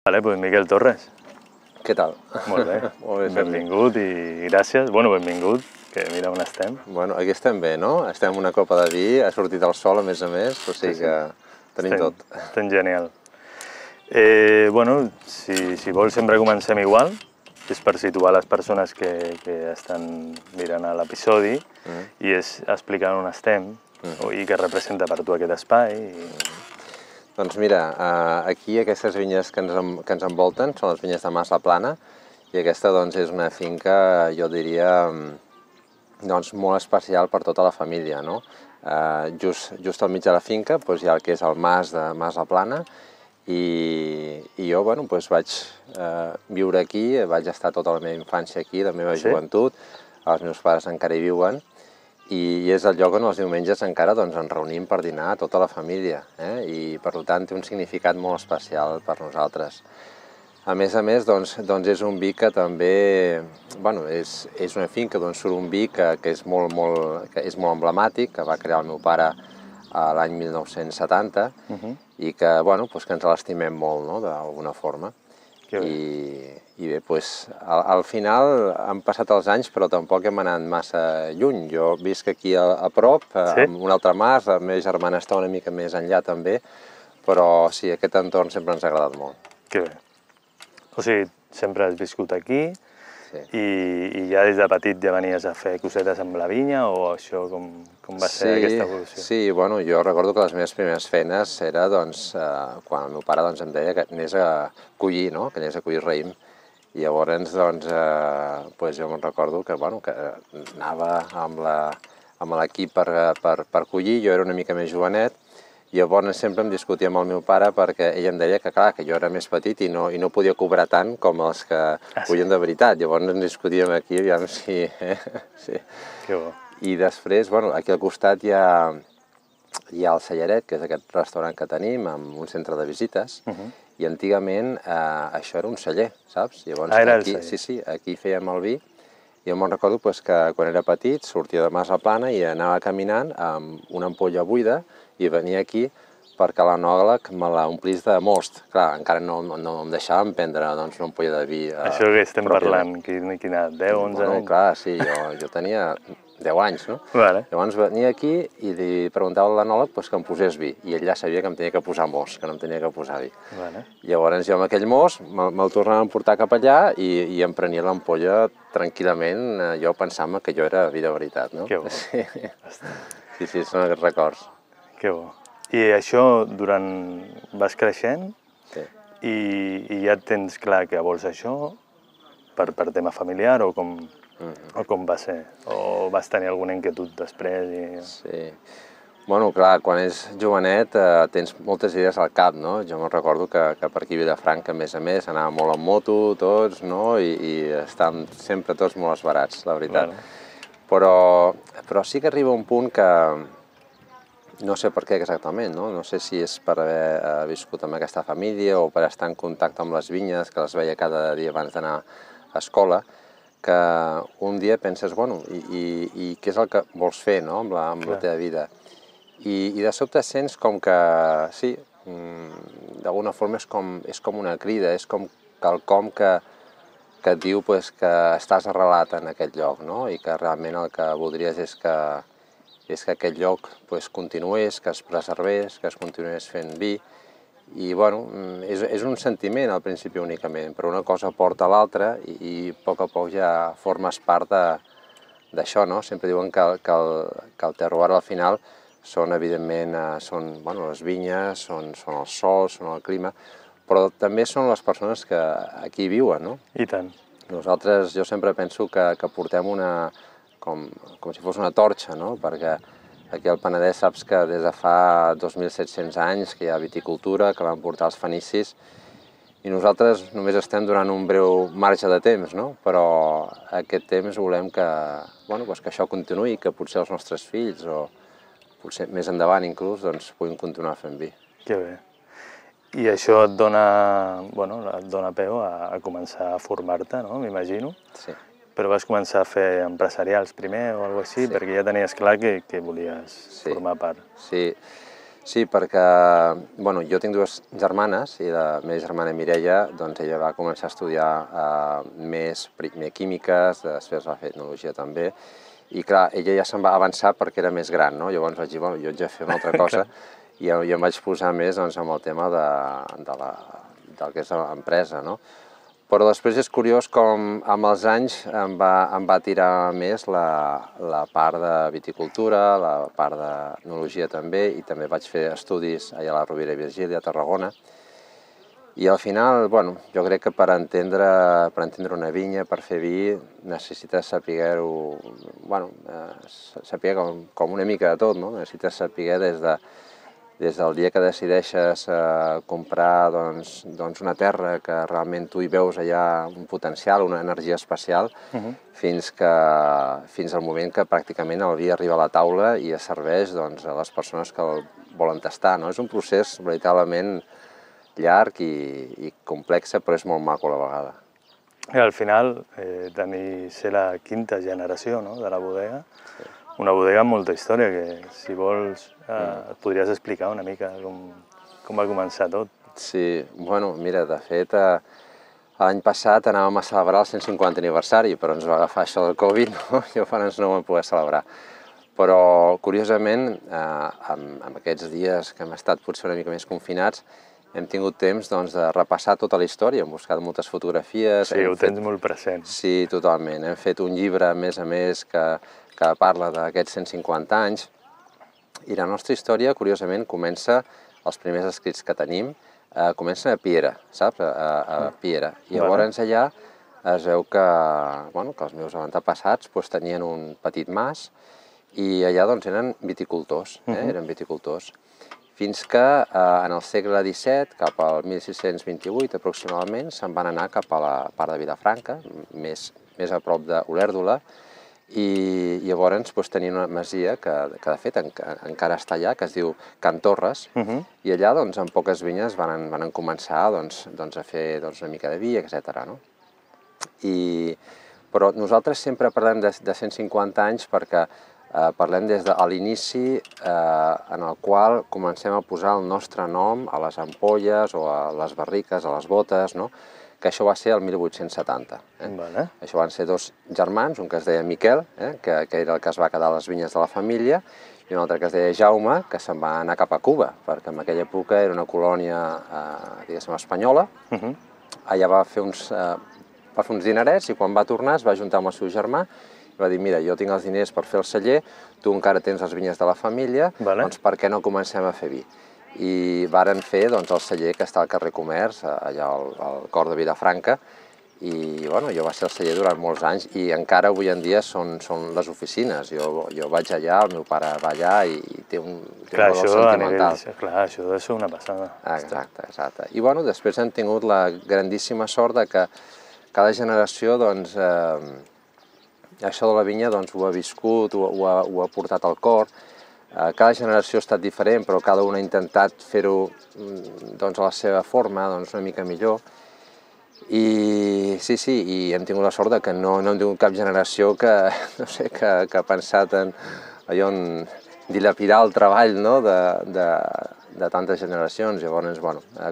Vale, doncs Miquel Torres. Què tal? Molt bé. Molt bé, benvingut i gràcies. Bueno, benvingut, que mira on estem. Bueno, aquí estem bé, no? Estem amb una copa de vi, ha sortit el sol a més, o sigui que tenim tot. Estem genial. Bueno, si vols sempre comencem igual, és per situar les persones que estan mirant l'episodi i és explicar on estem i què representa per tu aquest espai. Doncs mira, aquí aquestes vinyes que ens envolten són les vinyes de Mas la Plana i aquesta doncs és una finca, jo diria, doncs molt especial per tota la família, no? Just al mig de la finca doncs hi ha el que és el mas de Mas la Plana i jo, bueno, doncs vaig viure aquí, vaig estar tota la meva infància aquí, la meva joventut, els meus pares encara hi viuen i és el lloc on els diumenges encara ens reunim per dinar tota la família i per tant té un significat molt especial per nosaltres. A més, doncs és un vi que també, bueno, és una finca d'on surt un vi que és molt emblemàtic, que va crear el meu pare l'any 1970 i que, bueno, que ens l'estimem molt, no?, d'alguna forma. I bé, al final han passat els anys però tampoc hem anat massa lluny. Jo visc aquí a prop, en un altre mas, la meva germana està una mica més enllà també, però sí, aquest entorn sempre ens ha agradat molt. Que bé. O sigui, sempre has viscut aquí i ja des de petit ja venies a fer cosetes amb la vinya o això com va ser aquesta evolució? Sí, bueno, jo recordo que les meves primeres feines era quan el meu pare em deia que anés a collir, no?, que anés a collir raïm. I llavors jo me'n recordo que anava amb l'equip per collir, jo era una mica més jovenet, i llavors sempre em discutia amb el meu pare perquè ell em deia que, clar, que jo era més petit i no podia cobrar tant com els que collen de veritat. Llavors ens discutíem aquí, aviam si... Que bo. I després, bueno, aquí al costat hi ha el Cellaret, que és aquest restaurant que tenim, amb un centre de visites, i antigament això era un celler, saps? Era el celler. Sí, aquí fèiem el vi, i jo me'n recordo que quan era petit sortia de Mas la Plana i anava caminant amb una ampolla buida i venia aquí perquè l'enòleg me l'omplís de most. Clar, encara no em deixàvem prendre una ampolla de vi. Això que estem parlant, quina, 10, 11 anys? Bueno, clar, sí, jo tenia 10 anys, no? Llavors venia aquí i li preguntava a l'enòleg que em posés vi, i ell ja sabia que em tenia que posar most, que no em tenia que posar vi. Llavors jo amb aquell most me'l tornava a emportar cap allà i em prenia l'ampolla tranquil·lament, jo pensant que jo era vi de veritat, no? Que bo. Sí, són aquests records. Que bo. I això vas creixent i ja tens clar que vols això per tema familiar o com va ser? O vas tenir alguna inquietud després? Sí. Bueno, clar, quan és jovenet tens moltes idees al cap, no? Jo me'n recordo que per aquí a Vilafranca, a més, anàvem molt en moto, tots, no? I estàvem sempre tots molt esverats, la veritat. Però sí que arriba un punt que no sé per què exactament, no? No sé si és per haver viscut amb aquesta família o per estar en contacte amb les vinyes, que les veia cada dia abans d'anar a escola, que un dia penses, bueno, i què és el que vols fer, no?, amb la teva vida. I de sobte sents com que, sí, d'alguna forma és com una crida, és com quelcom que et diu que estàs arrelat en aquest lloc, no?, i que realment el que voldries és que aquest lloc continués, que es preservés, que es continués fent vi. I, bueno, és un sentiment al principi únicament, però una cosa porta a l'altra i a poc ja formes part d'això, no? Sempre diuen que el terroir al final són, evidentment, les vinyes, són els sols, són el clima, però també són les persones que aquí viuen, no? I tant. Nosaltres, jo sempre penso que portem com si fos una torxa, no? Perquè aquí al Penedès saps que des de fa 2.700 anys que hi ha viticultura, que van portar els fenicis, i nosaltres només estem durant un breu marge de temps, no? Però aquest temps volem que això continuï, que potser els nostres fills, o potser més endavant inclús, puguin continuar fent vi. Que bé. I això et dona peu a començar a formar-te, no?, m'imagino. Sí. Però vas començar a fer empresarials primer o alguna cosa així, perquè ja tenies clar que volies formar part. Sí, Sí, perquè jo tinc dues germanes i la meva germana Mireia, doncs ella va començar a estudiar primer químiques, després va fer etnologia també, i clar, ella ja se'n va avançar perquè era més gran, no? Llavors vaig dir, bueno, jo haig de fer una altra cosa i jo em vaig posar més doncs, amb el tema del que és l'empresa, no? Però després és curiós com amb els anys em va tirar més la part de viticultura, la part d'enologia també, i també vaig fer estudis allà a la Rovira i Virgili, a Tarragona. I al final, jo crec que per entendre una vinya, per fer vi, necessites saber-ho, saber com una mica de tot, no? Necessites saber des del dia que decideixes comprar una terra que realment tu hi veus allà un potencial, una energia especial, fins al moment que pràcticament el vi arriba a la taula i es serveix a les persones que el volen tastar. És un procés veritablement llarg i complex, però és molt maco a la vegada. I al final, ser la quinta generació de la bodega, una bodega amb molta història, que si vols et podries explicar una mica com va començar tot. Sí, mira, de fet, l'any passat anàvem a celebrar el 150 aniversari, però ens va agafar això del Covid, no? I llavors no ho vam poder celebrar. Però, curiosament, en aquests dies que hem estat potser una mica més confinats, hem tingut temps de repassar tota la història, hem buscat moltes fotografies. Sí, ho tens molt present. Sí, totalment. Hem fet un llibre, a més, que parla d'aquests 150 anys, i la nostra història, curiosament, comença, els primers escrits que tenim, comencen a Piera, saps? A Piera. I llavors allà es veu que els meus avantpassats tenien un petit mas i allà eren viticultors, eren viticultors. Fins que en el segle XVII, cap al 1628 aproximadament, se'n van anar cap a la part de Vilafranca, més a prop d'Olèrdola, i llavors tenien una masia que de fet encara està allà, que es diu Can Torres, i allà en poques vinyes van començar a fer una mica de vi, etc. Però nosaltres sempre parlem de 150 anys perquè parlem des de l'inici en el qual comencem a posar el nostre nom a les ampolles o a les barriques, a les botes, que això va ser el 1870. Això van ser dos germans, un que es deia Miquel, que era el que es va quedar a les vinyes de la família, i un altre que es deia Jaume, que se'n va anar cap a Cuba, perquè en aquella època era una colònia, diguéssim, espanyola. Allà va fer uns dinerets i quan va tornar es va juntar amb el seu germà i va dir, mira, jo tinc els diners per fer el celler, tu encara tens les vinyes de la família, doncs per què no comencem a fer vi? I varen fer el celler que està al carrer Comerç, allà al cor de Vilafranca, i jo va ser el celler durant molts anys i encara avui en dia són les oficines. Jo vaig allà, el meu pare va allà i té un valor sentimental. Clar, això deu ser una passada. Exacte. I després hem tingut la grandíssima sort que cada generació, això de la vinya ho ha viscut, ho ha portat al cor. Cada generació ha estat diferent, però cada una ha intentat fer-ho a la seva forma, una mica millor. I sí, hem tingut la sort que no hem tingut cap generació que ha pensat en dilapidar el treball de tantes generacions. Llavors,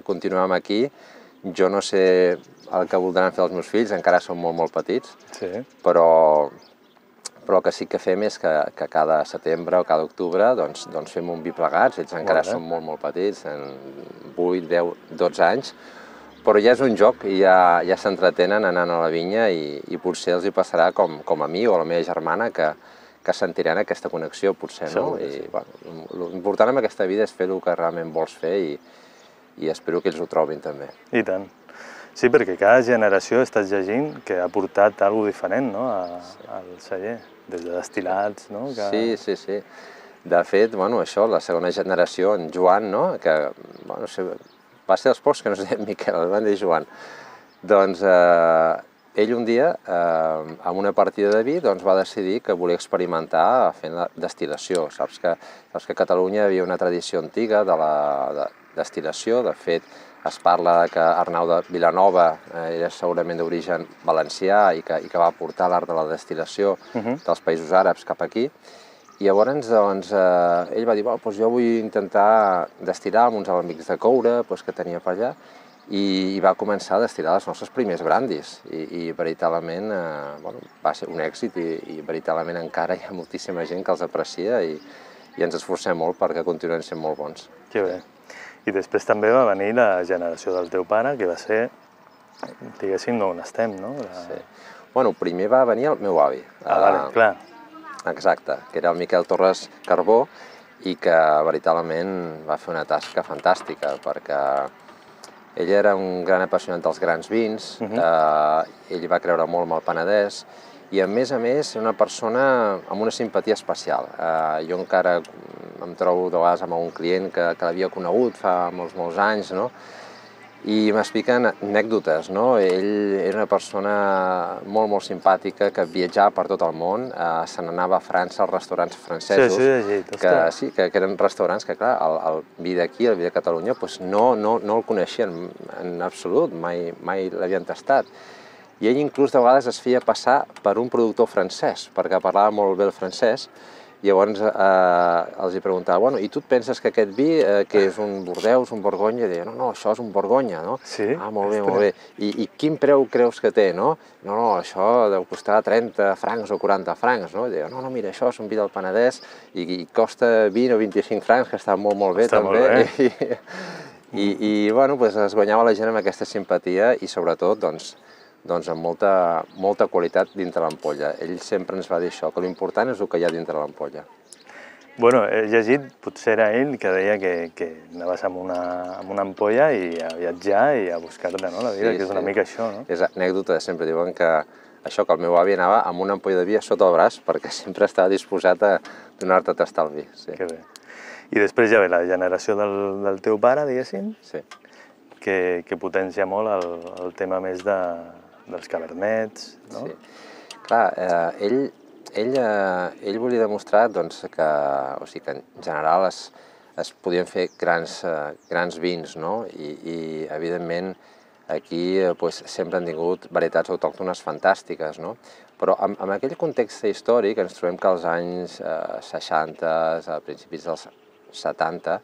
continuem aquí. Jo no sé el que voldran fer els meus fills, encara són molt petits, però el que sí que fem és que cada setembre o cada octubre fem un vi plegats. Ells encara són molt petits, 8, 10, 12 anys, però ja és un joc i ja s'entretenen anant a la vinya i potser els hi passarà com a mi o a la meva germana, que sentiran aquesta connexió, potser, no? L'important en aquesta vida és fer el que realment vols fer i espero que ells ho trobin també. I tant. Sí, perquè cada generació estàs llegint que ha portat alguna cosa diferent al celler, des de destil·lats, no? Sí. De fet, això, la segona generació, en Joan, que va ser dels pocs que no es deia Miquel, el van dir Joan. Doncs ell un dia, amb una partida de vi, va decidir que volia experimentar fent la destil·lació. Saps que a Catalunya hi havia una tradició antiga de la destil·lació. De fet, es parla que Arnau de Vilanova era segurament d'origen valencià i que va portar l'art de la destil·lació dels països àrabs cap aquí. I llavors, doncs, ell va dir, bueno, doncs jo vull intentar destil·lar amb uns amics de coure que tenia per allà, i va començar a destil·lar els nostres primers brandis, i veritablement va ser un èxit, i veritablement encara hi ha moltíssima gent que els aprecia, i ens esforcem molt perquè continuen sent molt bons. Que bé. I després també va venir la generació del teu pare, que va ser, diguéssim, on estem, no? Sí. Bueno, primer va venir el meu avi. Vale, clar. Exacte, que era el Miquel Torres Carbó, i que veritablement va fer una tasca fantàstica, perquè ell era un gran apassionat dels grans vins, ell va creure molt en el Penedès, i a més, era una persona amb una simpatia especial. Jo encara em trobo de vegades amb un client que l'havia conegut fa molts anys, no? I m'expliquen anècdotes, no? Ell era una persona molt simpàtica, que viatjava per tot el món, se n'anava a França als restaurants francesos, que eren restaurants que, clar, el vi d'aquí, el vi de Catalunya, no el coneixien en absolut, mai l'havien tastat. I ell inclús de vegades es feia passar per un productor francès, perquè parlava molt bé el francès, i llavors els hi preguntava, bueno, i tu et penses que aquest vi, que és un Bordeus, un Borgonya? I deia, no, això és un Borgonya, no? Sí? Ah, molt bé. I quin preu creus que té, no? No, això deu costar 30 francs o 40 francs, no? I deia, no, mira, això és un vi del Penedès i costa 20 o 25 francs, que està molt bé també. I bueno, es guanyava la gent amb aquesta simpatia i sobretot, doncs amb molta qualitat dintre l'ampolla. Ell sempre ens va dir això, que l'important és el que hi ha dintre l'ampolla. Bueno, he llegit, potser era ell, que deia que anaves amb una ampolla i a viatjar i a buscar-te la vida, que és una mica això, no? És anècdota, sempre diuen que això, que el meu avi anava amb una ampolla de vi sota el braç perquè sempre estava disposat a donar-te a tastar el vi. Que bé. I després ja ve la generació del teu pare, diguéssim, que potencia molt el tema més dels cabernets, no? Sí. Clar, ell volia demostrar que en general es podien fer grans vins, no? I evidentment aquí sempre han tingut varietats autòctones fantàstiques, no? Però en aquell context històric ens trobem que als anys 60, a principis dels 70,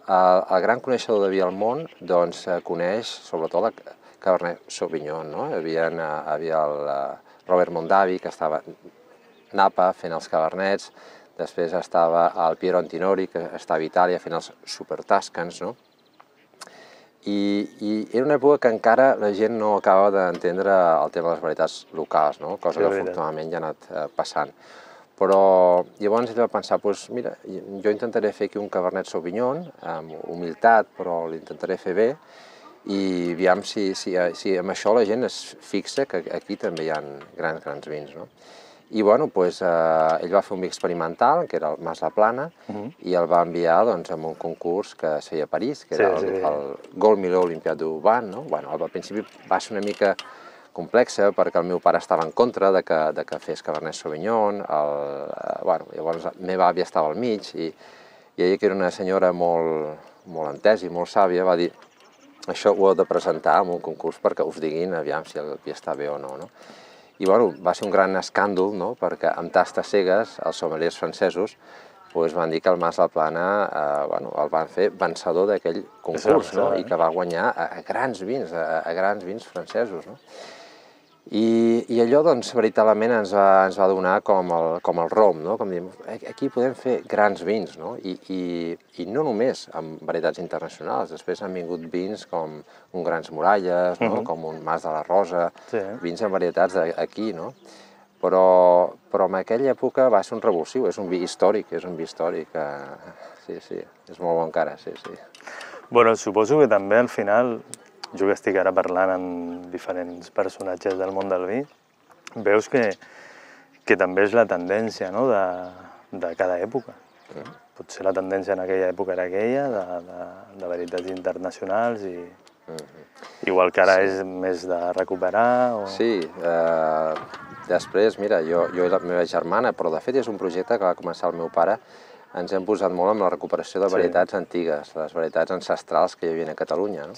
el gran coneixedor de vi al món coneix sobretot la Cabernet Sauvignon, no? Hi havia el Robert Mondavi, que estava a Napa fent els cabernets, després estava el Piero Antinori, que estava a Itàlia fent els Super Tuscans, no? I era una època que encara la gent no acaba d'entendre el tema de les varietats locals, no? Cosa que afortunadament ja ha anat passant. Però llavors ell va pensar, mira, jo intentaré fer aquí un Cabernet Sauvignon, amb humilitat, però l'intentaré fer bé, i aviam si amb això la gent es fixa que aquí també hi ha grans vins, no? I bueno, ell va fer un vi experimental, que era el Mas la Plana, i el va enviar a un concurs que es feia a París, que era el Gold Millau Olympiade du Vin, no? Al principi va ser una mica complexa perquè el meu pare estava en contra de que fes Cabernet Sauvignon, llavors la meva àvia estava al mig, i ella, que era una senyora molt entesa i molt sàvia, va dir, això ho heu de presentar en un concurs perquè us diguin aviam si el vi està bé o no. I va ser un gran escàndol, perquè amb tastes cegues els sommeliers francesos van dir que el Mas la Plana el van fer vencedor d'aquell concurs, i que va guanyar a grans vins francesos. I allò, veritablement ens va donar com el rom, com diem, aquí podem fer grans vins, i no només amb varietats internacionals, després han vingut vins com un Grans Muralles, com un Mas de la Rosa, vins amb varietats d'aquí, però en aquella època va ser un revulsiu, és un vi històric, sí, és molt bon encara, sí. Bueno, suposo que també al final, jo que estic ara parlant amb diferents personatges del món del vi, veus que també és la tendència de cada època. Potser la tendència en aquella època era aquella, de varietats internacionals, i igual que ara és més de recuperar. Sí, després, mira, jo i la meva germana, però de fet és un projecte que va començar el meu pare, ens hem posat molt amb la recuperació de varietats antigues, les varietats ancestrals que hi havia a Catalunya.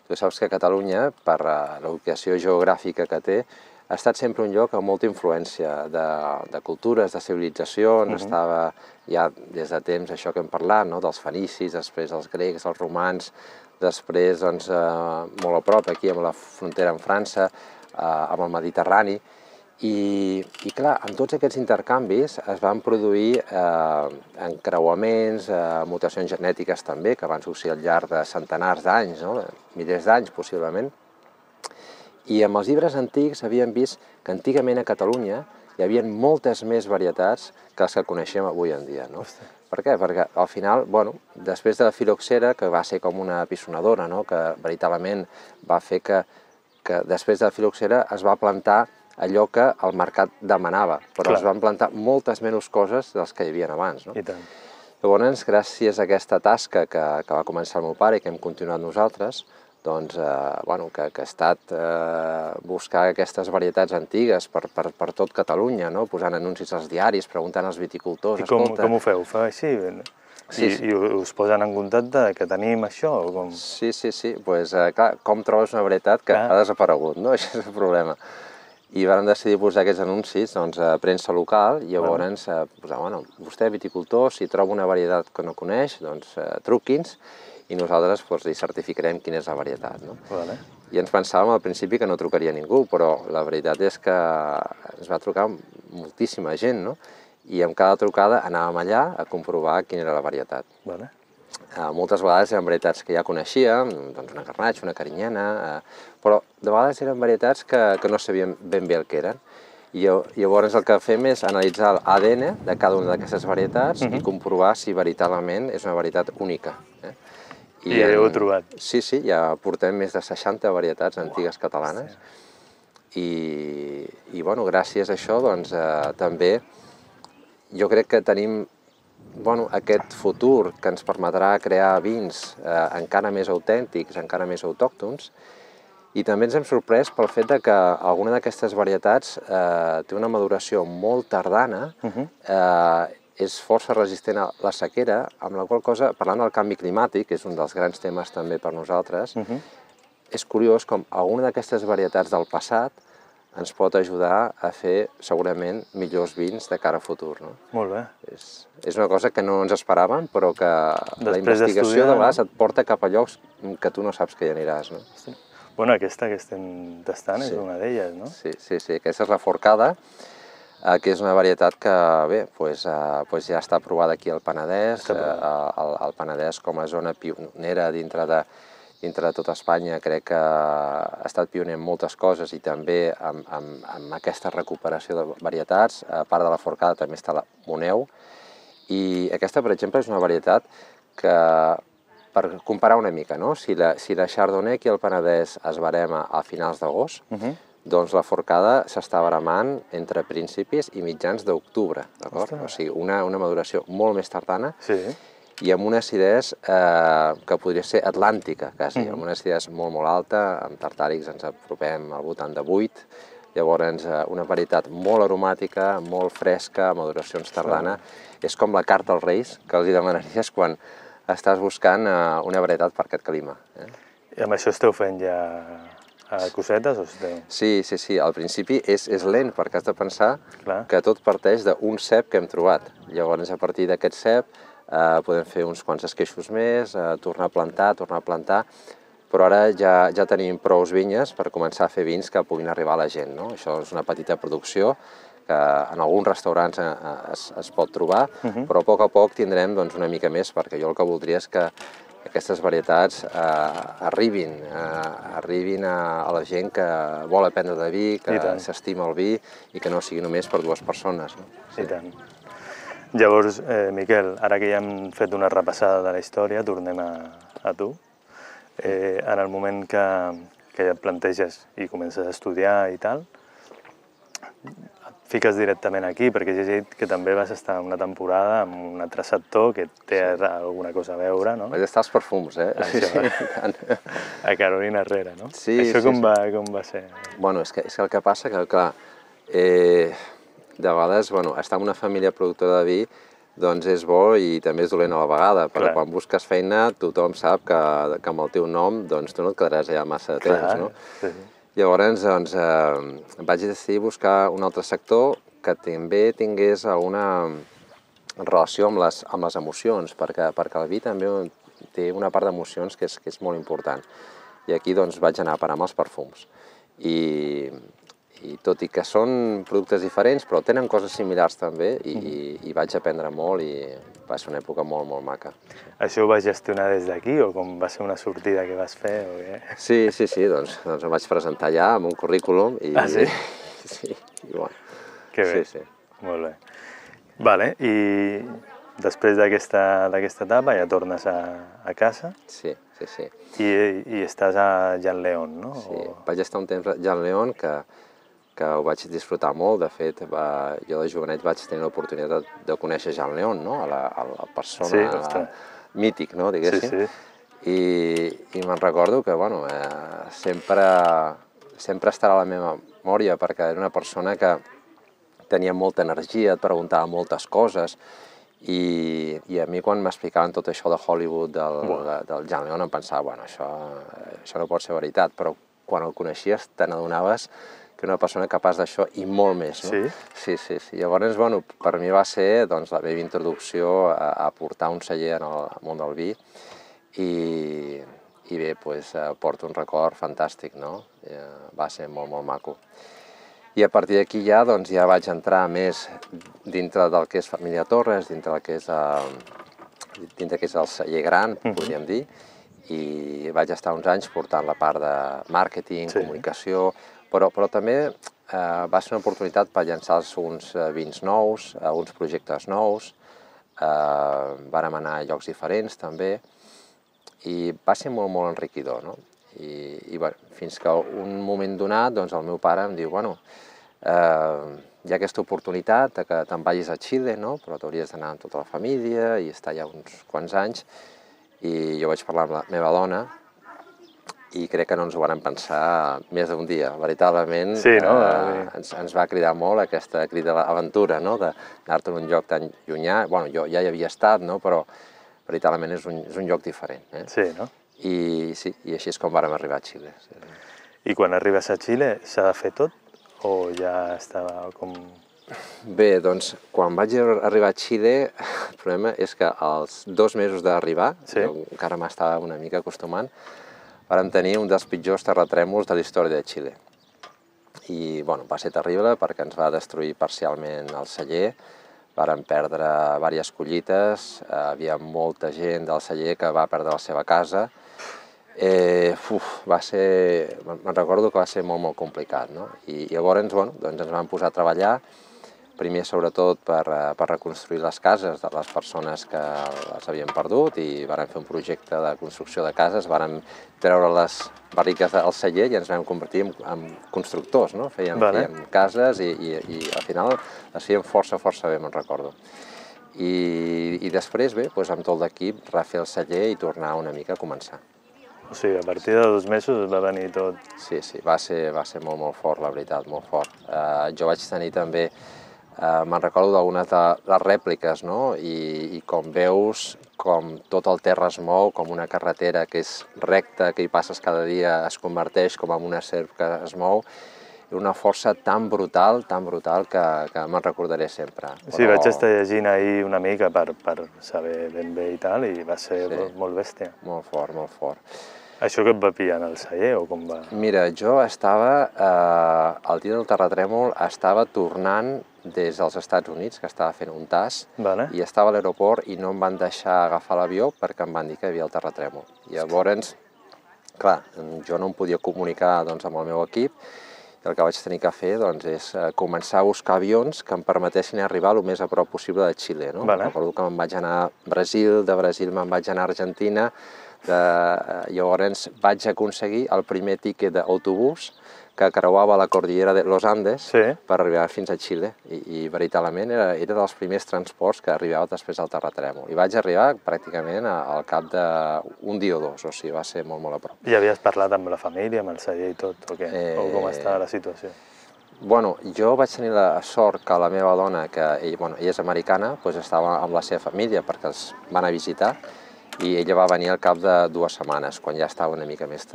Tu saps que Catalunya, per la ubicació geogràfica que té, ha estat sempre un lloc amb molta influència de cultures, de civilitzacions, estava ja des de temps això que hem parlat, no? Dels fenicis, després els grecs, els romans, després doncs, molt a prop aquí amb la frontera amb França, amb el Mediterrani, i clar, en tots aquests intercanvis es van produir encreuaments, mutacions genètiques també, que van succeir al llarg de centenars d'anys, no? Milers d'anys possiblement. I amb els llibres antics havíem vist que antigament a Catalunya hi havia moltes més varietats que les que coneixem avui en dia. No? Per què? Perquè al final, bueno, després de la filoxera, que va ser com una pisonadora, no? Que veritablement va fer que després de la filoxera es va plantar allò que el mercat demanava, però es van plantar moltes menys coses dels que hi havia abans. No? I tant. Llavors, gràcies a aquesta tasca que va començar el meu pare i que hem continuat nosaltres, doncs, bueno, que ha estat buscar aquestes varietats antigues per tot Catalunya, no? Posant anuncis als diaris, preguntant als viticultors. I com ho feu? Ho feu així? I us posen en contacte que tenim això? Sí. Doncs, clar, com trobes una varietat que ha desaparegut, no? Això és el problema. I vam decidir posar aquests anuncis a premsa local i llavors posar, bueno, vostè, viticultor, si troba una varietat que no coneix, doncs truqui'ns i nosaltres li certificarem quina és la varietat. I ens pensàvem al principi que no trucaria ningú, però la veritat és que ens va trucar moltíssima gent, no? I amb cada trucada anàvem allà a comprovar quina era la varietat. Moltes vegades eren varietats que ja coneixíem, doncs una garnatxa, una carinyena, però de vegades eren varietats que no sabíem ben bé el que eren. I llavors el que fem és analitzar l'ADN de cada una d'aquestes varietats i comprovar si veritablement és una varietat única. I ja ho heu trobat? Sí, ja portem més de 60 varietats antigues catalanes i bueno, gràcies a això doncs també jo crec que tenim aquest futur que ens permetrà crear vins encara més autèntics, encara més autòctons, i també ens hem sorprès pel fet que alguna d'aquestes varietats té una maduració molt tardana, és força resistent a la sequera, amb la qual cosa, parlant del canvi climàtic, que és un dels grans temes també per nosaltres, és curiós com alguna d'aquestes varietats del passat ens pot ajudar a fer segurament millors vins de cara a futur. Molt bé. És una cosa que no ens esperàvem, però que la investigació de vegades et porta cap a llocs que tu no saps que hi aniràs. Bueno, aquesta que estem tastant és una d'elles, no? Sí, aquesta és la Forcada, que és una varietat que, bé, ja està aprovada aquí al Penedès. El Penedès, com a zona pionera dintre de tota Espanya, crec que ha estat pioner en moltes coses i també amb aquesta recuperació de varietats. A part de la Forcada també està la Moneu. I aquesta, per exemple, és una varietat que, per comparar una mica, si la Chardonnay aquí al Penedès es barema a finals d'agost, doncs la Forcada s'està baramant entre principis i mitjans d'octubre, d'acord? O sigui, una maduració molt més tardana i amb una acidesa que podria ser atlàntica, quasi, amb una acidesa molt alta, amb tartàrics ens apropem al voltant de 8, llavors una varietat molt aromàtica, molt fresca, maduracions tardana. És com la carta als Reis que els demanaries quan estàs buscant una varietat per aquest clima. I amb això esteu fent ja cosetes? Sí, al principi és lent perquè has de pensar que tot parteix d'un cep que hem trobat. Llavors, a partir d'aquest cep, podem fer uns quants esqueixos més, tornar a plantar, però ara ja tenim prous vinyes per començar a fer vins que puguin arribar a la gent. Això és una petita producció que en alguns restaurants es pot trobar, però a poc tindrem una mica més, perquè jo el que voldria és que aquestes varietats arribin a la gent que vol aprendre de vi, que s'estima el vi i que no sigui només per 2 persones. I tant. Llavors, Miquel, ara que ja hem fet una repassada de la història, tornem a tu. En el moment que ja et planteges i comences a estudiar i tal, et fiques directament aquí, perquè he llegit que també vas estar una temporada amb un altre sector que té alguna cosa a veure, no? Vaig estar als perfums, A Carolina Herrera, no? Sí. Això com va ser? Bueno, és que el que passa que, clar, de vegades, estar en una família productora de vi doncs és bo i també és dolent a la vegada, però quan busques feina tothom sap que amb el teu nom tu no et quedaràs allà massa de temps, no? Llavors, doncs, vaig decidir buscar un altre sector que també tingués alguna relació amb les emocions, perquè el vi també té una part d'emocions que és molt important. I aquí doncs, vaig anar a parar amb els perfums. I tot i que són productes diferents, però tenen coses similars també, i vaig aprendre molt i va ser una època molt, molt maca. Això ho vas gestionar des d'aquí o com va ser una sortida que vas fer? O què? Sí, doncs em vaig presentar allà amb un currículum i... Ah, sí? Sí, i bueno. Que bé. Sí. Molt bé. Vale, i després d'aquesta etapa ja tornes a casa? Sí. I estàs a Jan León, no? Sí, vaig estar un temps a Jan León que ho vaig disfrutar molt. De fet, jo de jovenet vaig tenir l'oportunitat de conèixer Jan León, no? A la persona mític, no? Diguéssim. Sí. I me'n recordo que, bueno, sempre estarà a la meva memòria perquè era una persona que tenia molta energia, et preguntava moltes coses, i a mi quan m'explicaven tot això de Hollywood, del Jan León, em pensava, bueno, això no pot ser veritat, però quan el coneixies te n'adonaves que era una persona capaç d'això i molt més, no? Sí? Sí. Llavors, bueno, per mi va ser la meva introducció a portar un celler en el món del vi, i bé, porto un record fantàstic, no? Va ser molt, molt maco. I a partir d'aquí ja vaig entrar més dintre del que és Família Torres, dintre del que és el celler gran, podríem dir, i vaig estar uns anys portant la part de màrqueting, comunicació, però també va ser una oportunitat per llançar uns vins nous, uns projectes nous, vàrem anar a llocs diferents també, i va ser molt, molt enriquidor, no? I fins que un moment donat, doncs el meu pare em diu, bueno, hi ha aquesta oportunitat que te'n vagis a Xile, no? Però t'hauries d'anar amb tota la família i estar allà uns quants anys. I jo vaig parlar amb la meva dona i crec que no ens ho vàrem pensar més d'un dia. Veritablement ens va cridar molt aquesta crida a l'aventura, no? D'anar-te a un lloc tan llunyà. Bueno, jo ja hi havia estat, no? Però veritablement és un lloc diferent. Sí, no? I així és com vàrem arribar a Xile. I quan arribes a Xile s'ha de fer tot? O ja estava com... Bé, doncs, quan vaig arribar a Xile, el problema és que als 2 mesos d'arribar, jo encara m'estava una mica acostumant, vàrem tenir un dels pitjors terratrèmols de la història de Xile. I, bueno, va ser terrible perquè ens va destruir parcialment el celler, vàrem perdre diverses collites, havia molta gent del celler que va perdre la seva casa. Me'n recordo que va ser molt, molt complicat, no? I llavors, bueno, doncs ens vam posar a treballar, primer sobretot per reconstruir les cases de les persones que les havien perdut, i vàrem fer un projecte de construcció de cases, vàrem treure les barriques del celler i ens vam convertir en constructors, no? Fèiem cases i al final les fèiem força bé, me'n recordo. I després, bé, amb tot l'equip, refer el celler i tornar una mica a començar. O sigui, a partir de 2 mesos va venir tot... Sí, va ser molt, molt fort, la veritat, molt fort. Jo vaig tenir també, me'n recordo d'algunes de les rèpliques, no? I com veus com tot el terra es mou, com una carretera que és recta, que hi passes cada dia, es converteix com en una serp que es mou, i una força tan brutal que me'n recordaré sempre. Sí, vaig estar llegint ahir una mica per saber ben bé i tal, i va ser molt bèstia. Molt fort, molt fort. Això que et va pillar en el celler o com va? Mira, jo estava, el dia del terratrèmol, estava tornant des dels Estats Units, que estava fent un tas, i estava a l'aeroport i no em van deixar agafar l'avió perquè em van dir que hi havia el terratrèmol. Llavors, clar, jo no em podia comunicar amb el meu equip, i el que vaig tenir que fer és començar a buscar avions que em permetessin arribar el més a prop possible de Xile. Recordo que me'n vaig anar a Brasil, de Brasil me'n vaig anar a Argentina, llavors vaig aconseguir el primer tiquet d'autobús que creuava la cordillera de los Andes per arribar fins a Xile, i veritablement era dels primers transports que arribava després del terratrèmol. I vaig arribar pràcticament al cap d'un dia o 2, o sigui, va ser molt, molt a prop. I havies parlat amb la família, amb el celler i tot, o què? O com estava la situació? Bueno, jo vaig tenir la sort que la meva dona, que ella és americana, estava amb la seva família perquè els van a visitar, i ella va venir al cap de 2 setmanes, quan ja estava una mica més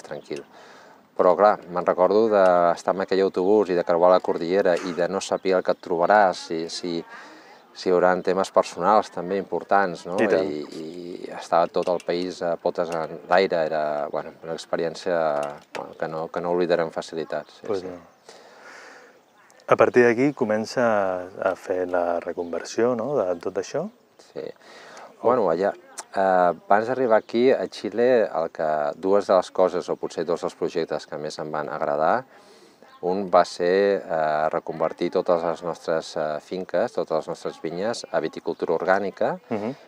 tranquil. Però clar, me'n recordo d'estar en aquell autobús i de creuar la cordillera i de no saber el que et trobaràs, si hi haurà temes personals també importants, no? I estava tot el país a potes en l'aire, era una experiència que no oblidaré amb facilitat. A partir d'aquí comença a fer la reconversió, no?, de tot això? Sí. Allà, abans d'arribar aquí, a Xile, dues de les coses, o potser dos dels projectes que més em van agradar, un va ser reconvertir totes les nostres finques, totes les nostres vinyes, a viticultura orgànica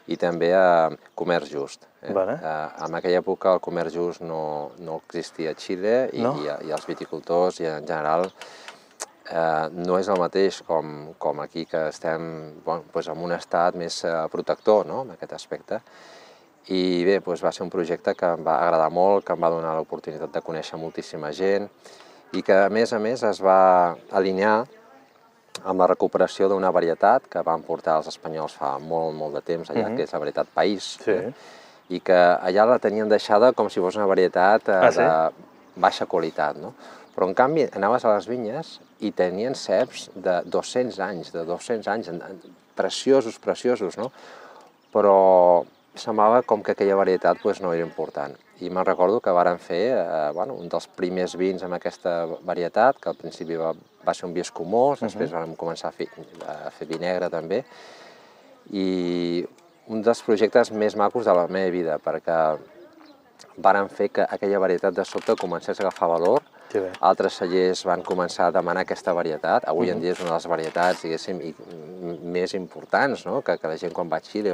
i també a comerç just. En aquella època el comerç just no existia a Xile i els viticultors i en general no és el mateix com aquí, que estem en un estat més protector en aquest aspecte. I bé, va ser un projecte que em va agradar molt, que em va donar l'oportunitat de conèixer moltíssima gent i que, a més es va alinear amb la recuperació d'una varietat que van portar els espanyols fa molt de temps allà, que és la varietat País, i que allà la tenien deixada com si fos una varietat de baixa qualitat, no? Però, en canvi, anaves a les vinyes i tenien ceps de 200 anys, preciosos, no? Però semblava com que aquella varietat no era important. I me'n recordo que varen fer un dels primers vins amb aquesta varietat, que al principi va ser un vi escumós, després vam començar a fer vi negre també, i un dels projectes més macos de la meva vida, perquè varen fer que aquella varietat de sobte comencés a agafar valor. Altres cellers van començar a demanar aquesta varietat. Avui en dia és una de les varietats, diguéssim, més importants, que la gent quan va a Xile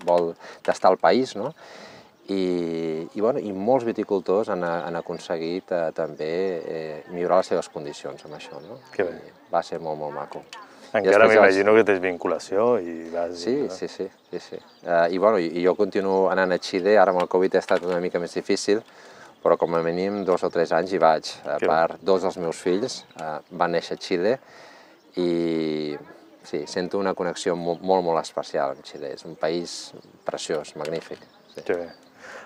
vol tastar el país, no? I molts viticultors han aconseguit també millorar les seves condicions amb això, no? Va ser molt maco. Encara m'imagino que tens vinculació i vas... Sí. I jo continuo anant a Xile, ara amb el Covid ha estat una mica més difícil, però com a mínim 2 o 3 anys hi vaig. A part, 2 dels meus fills van néixer a Xile i sí, sento una connexió molt especial amb Xile. És un país preciós, magnífic. Que bé.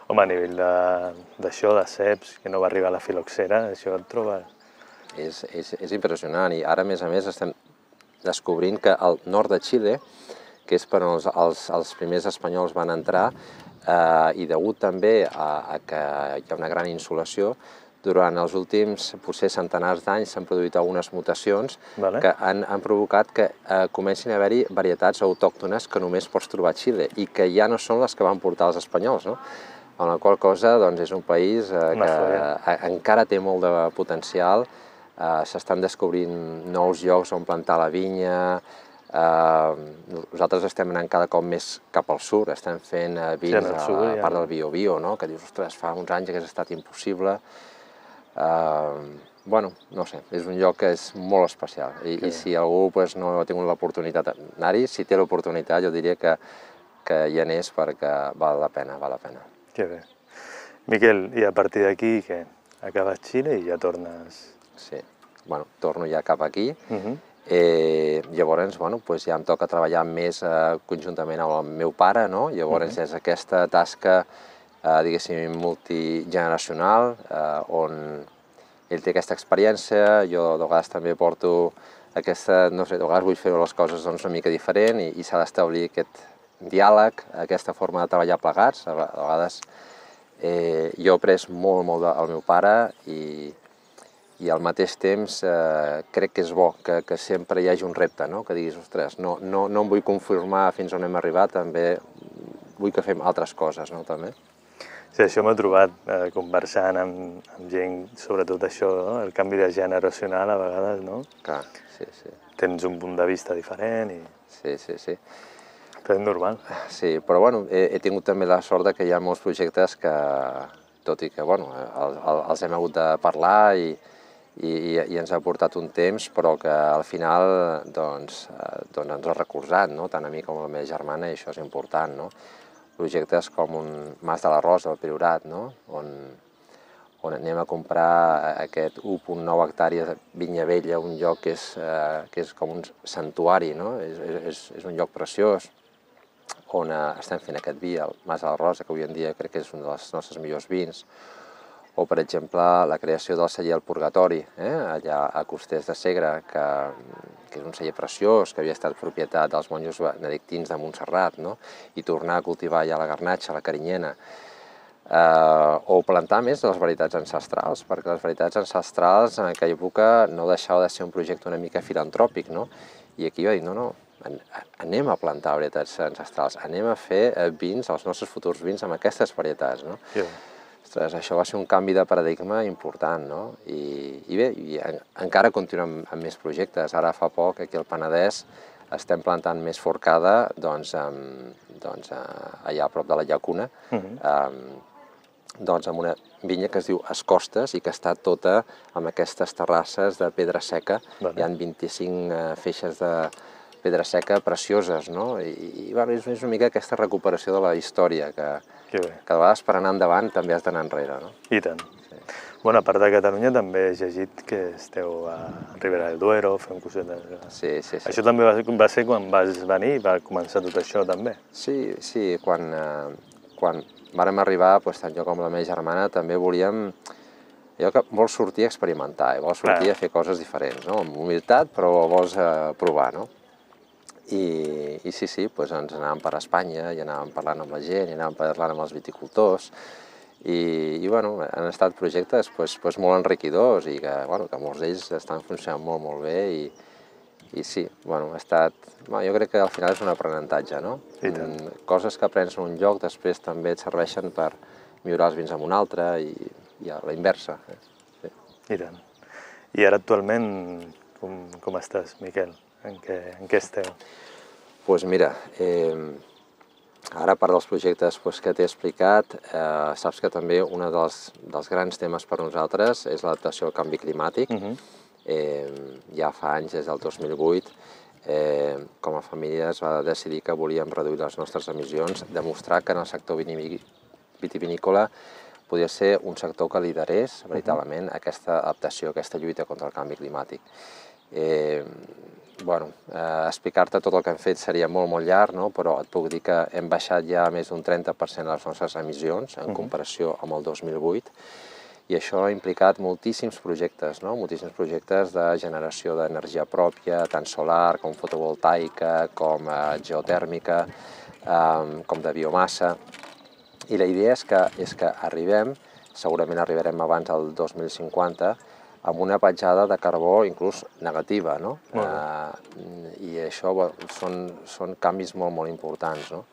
Home, a nivell d'això, de ceps, que no va arribar a la filoxera, això et trobes... És impressionant i ara, a més, estem descobrint que al nord de Xile, que és per on els primers espanyols van entrar, i degut també a que hi ha una gran insolació, durant els últims potser centenars d'anys s'han produït algunes mutacions que han provocat que comencin a haver-hi varietats autòctones que només pots trobar a Xile i que ja no són les que van portar els espanyols, no? Amb la qual cosa és un país que encara té molt de potencial, s'estan descobrint nous llocs on plantar la vinya. Nosaltres estem anant cada cop més cap al sud, estem fent vins a part del Biobío, que dius, ostres, fa uns anys hagués estat impossible. No sé, és un lloc que és molt especial i si algú no ha tingut l'oportunitat d'anar-hi, si té l'oportunitat jo diria que hi anés perquè val la pena. Que bé. Miquel, i a partir d'aquí què? Acabes Xile i ja tornes... Sí, torno ja cap aquí. Llavors, ja em toca treballar més conjuntament amb el meu pare, no? Llavors és aquesta tasca, diguéssim, multigeneracional, on ell té aquesta experiència, jo de vegades també porto aquesta, no sé, de vegades vull fer les coses una mica diferent i s'ha d'establir aquest diàleg, aquesta forma de treballar plegats. A vegades jo he après molt del meu pare i al mateix temps crec que és bo que sempre hi hagi un repte, que diguis, ostres, no em vull conformar fins on hem arribat, també vull que fem altres coses, també. Sí, això m'he trobat conversant amb gent, sobretot això, el canvi de generacional a vegades, no? Clar, sí. Tens un punt de vista diferent i... Sí. Però és normal. Sí, però he tingut també la sort que hi ha molts projectes que, tot i que els hem hagut de parlar i ens ha portat un temps, però que al final ens ha recolzat, tant a mi com a la meva germana, i això és important. Projectes com un Mas de la Rosa, al Priorat, on anem a comprar aquest 1,9 hectàrees de vinya vella, un lloc que és com un santuari, és un lloc preciós, on estem fent aquest vi, el Mas de la Rosa, que avui en dia crec que és un dels nostres millors vins, o, per exemple, la creació del celler El Purgatori, allà a Costers de Segre, que és un celler preciós, que havia estat propietat dels monjos benedictins de Montserrat, no? I tornar a cultivar ja la garnatxa, la carinyena, o plantar més de les varietats ancestrals, perquè les varietats ancestrals en aquella època no deixava de ser un projecte una mica filantròpic, no? I aquí jo dic, no, anem a plantar varietats ancestrals, anem a fer vins, els nostres futurs vins, amb aquestes varietats, no? Ostres, això va ser un canvi de paradigma important, no? I bé, encara continuem amb més projectes. Ara fa poc, aquí al Penedès, estem plantant més forcada, doncs, allà a prop de la llacuna, doncs amb una vinya que es diu Escostes i que està tota amb aquestes terrasses de pedra seca. Hi ha 25 feixes de pedra seca precioses, no? I és una mica aquesta recuperació de la història, que de vegades per anar endavant també has d'anar enrere, no? I tant. Bueno, a part de Catalunya també he llegit que esteu a Ribera del Duero fent cosetes. Sí. Això també va ser quan vas venir i va començar tot això també? Sí, quan vàrem arribar, tant jo com la meva germana, també volíem... Allò que vols sortir a experimentar, vols sortir a fer coses diferents, no? Amb humilitat, però vols provar, no? I sí, ens anàvem per Espanya i anàvem parlant amb la gent, i anàvem parlant amb els viticultors, i bueno, han estat projectes molt enriquidors i que molts d'ells estan funcionant molt bé i sí, bueno, ha estat... Jo crec que al final és un aprenentatge, no? Coses que aprens en un lloc després també et serveixen per millorar els vins en un altre i a la inversa. I tant. I ara actualment com estàs, Miquel? En què esteu? Doncs mira, ara a part dels projectes que t'he explicat, saps que també un dels grans temes per nosaltres és l'adaptació al canvi climàtic. Ja fa anys, des del 2008, com a família es va decidir que volíem reduir les nostres emissions, demostrar que en el sector vitivinícola podia ser un sector que liderés veritablement aquesta adaptació, aquesta lluita contra el canvi climàtic. Explicar-te tot el que hem fet seria molt llarg, però et puc dir que hem baixat ja més d'un 30% les nostres emissions en comparació amb el 2008, i això ha implicat moltíssims projectes, moltíssims projectes de generació d'energia pròpia, tant solar com fotovoltaica, com geotèrmica, com de biomassa. I la idea és que segurament arribarem abans del 2050, amb una petjada de carbó inclús negativa, no? I això són canvis molt importants, no?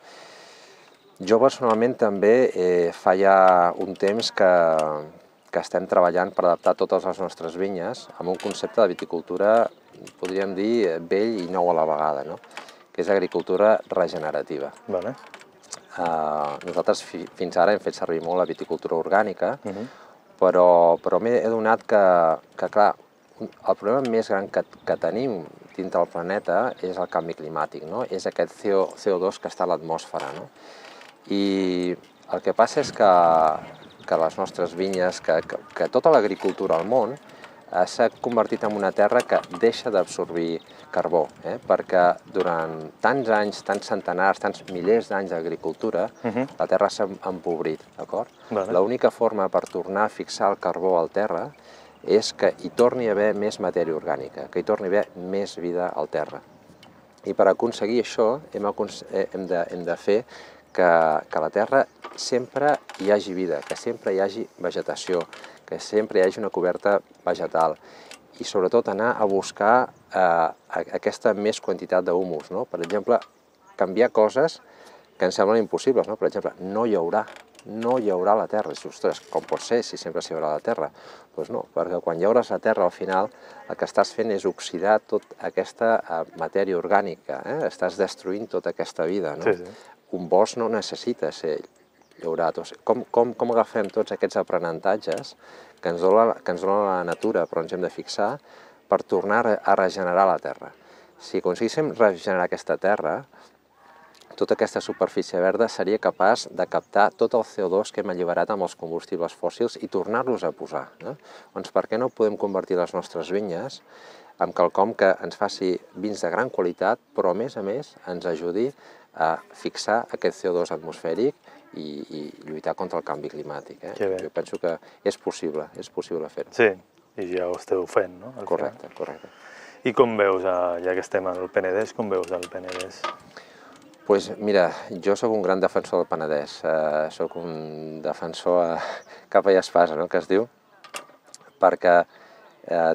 Jo personalment també fa ja un temps que estem treballant per adaptar totes les nostres vinyes amb un concepte de viticultura, podríem dir, vell i nou a la vegada, no? Que és agricultura regenerativa. Nosaltres fins ara hem fet servir molt la viticultura orgànica, però m'he adonat que, clar, el problema més gran que tenim dintre del planeta és el canvi climàtic, no? És aquest CO2 que està a l'atmosfera, no? I el que passa és que les nostres vinyes, que tota l'agricultura al món s'ha convertit en una terra que deixa d'absorbir carbó, perquè durant tants anys, tants centenars, tants milers d'anys d'agricultura, la terra s'ha empobrit, d'acord? L'única forma per tornar a fixar el carbó al terra és que hi torni a haver més matèria orgànica, que hi torni a haver més vida al terra. I per aconseguir això hem de fer que a la terra sempre hi hagi vida, que sempre hi hagi vegetació, que sempre hi hagi una coberta vegetal i sobretot anar a buscar aquesta més quantitat d'humus, no? Per exemple, canviar coses que ens semblen impossibles, no? Per exemple, no hi haurà la terra. Ostres, com pot ser si sempre s'hi haurà la terra? Doncs no, perquè quan llaures la terra al final el que estàs fent és oxidar tota aquesta matèria orgànica, estàs destruint tota aquesta vida, no? Un bosc no necessita ser llaurat. Com agafem tots aquests aprenentatges que ens dona la natura, però ens hem de fixar, per tornar a regenerar la terra? Si aconseguíssim regenerar aquesta terra, tota aquesta superfície verda seria capaç de captar tot el CO2 que hem alliberat amb els combustibles fòssils i tornar-los a posar. Doncs per què no podem convertir les nostres vinyes en quelcom que ens faci vins de gran qualitat, però a més ens ajudi a fixar aquest CO2 atmosfèric i lluitar contra el canvi climàtic. Que bé. Jo penso que és possible fer-ho. Sí, i ja ho esteu fent, no? Correcte, correcte. I com veus, ja que estem al Penedès, com veus el Penedès? Doncs mira, jo sóc un gran defensor del Penedès, sóc un defensor capa i espasa, no?, que es diu, perquè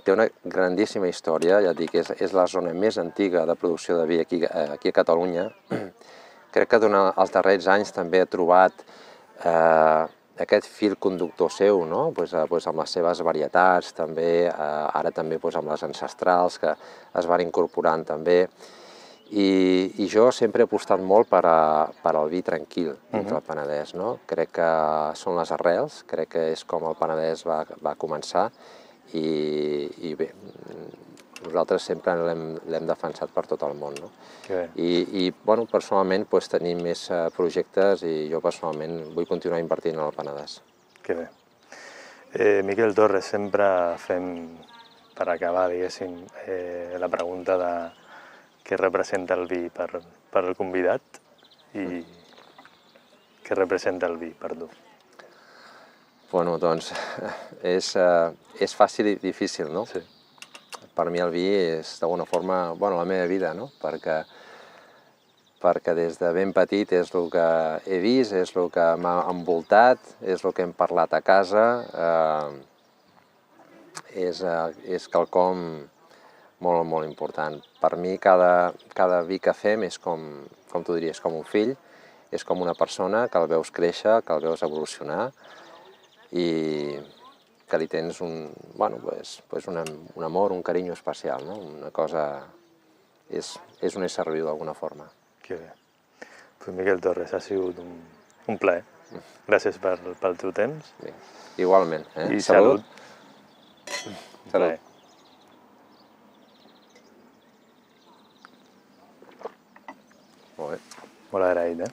té una grandíssima història, ja et dic, és la zona més antiga de producció de vi aquí a Catalunya. Crec que durant els darrers anys també ha trobat aquest fil conductor seu, no?, amb les seves varietats, també, ara també amb les ancestrals que es van incorporant també. I jo sempre he apostat molt per al vi tranquil dintre el Penedès, no? Crec que són les arrels, crec que és com el Penedès va començar i bé, nosaltres sempre l'hem defensat per tot el món, no? I personalment tenim més projectes i jo personalment vull continuar invertint en el Penedès. Que bé. Miquel Torres, sempre fem, per acabar, diguéssim, la pregunta de què representa el vi per al convidat i què representa el vi per tu. Bueno, doncs és fàcil i difícil, no? Sí. Per mi el vi és d'alguna forma la meva vida, no? Perquè des de ben petit és el que he vist, és el que m'ha envoltat, és el que hem parlat a casa, és quelcom molt, molt important. Per mi cada vi que fem és com tu diries, com un fill, és com una persona que el veus créixer, que el veus evolucionar i que li tens un amor, un carinyo especial, no? Una cosa... és un ésser viu d'alguna forma. Que bé. Pues Miquel Torres, ha sigut un plaer. Gràcies pel teu temps. Bé, igualment. I salut. Salut. Molt bé. Molt agraït,